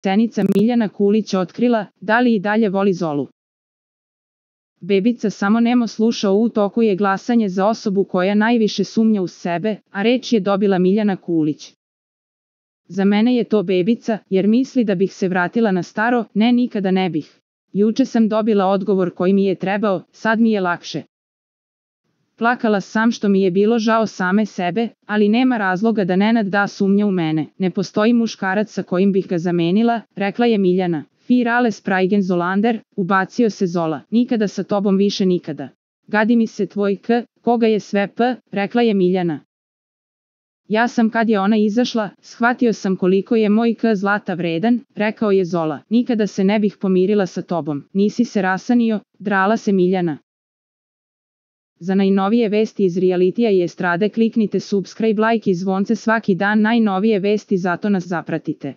Senica Miljana Kulić otkrila, da li i dalje voli Zolu. Bebica samo nemo sluša. U toku je glasanje za osobu koja najviše sumnja u sebe, a reč je dobila Miljana Kulić. Za mene je to Bebica, jer misli da bih se vratila na staro. Ne, nikada ne bih. Juče sam dobila odgovor koji mi je trebao, sad mi je lakše. Plakala sam što mi je bilo žao same sebe, ali nema razloga da Nenad da sumnja u mene. Ne postoji muškarac sa kojim bih ga zamenila, rekla je Miljana. Fir alles Spraigen Zolander, ubacio se Zola. Nikada sa tobom više nikada. Gadi mi se tvoj k, koga je sve p, rekla je Miljana. Ja sam kad je ona izašla, shvatio sam koliko je moj k zlata vredan, rekao je Zola. Nikada se ne bih pomirila sa tobom. Nisi se rasanio, drala se Miljana. Za najnovije vesti iz realitija i estrade kliknite subscribe, like i zvonce svaki dan. Najnovije vesti, zato nas zapratite.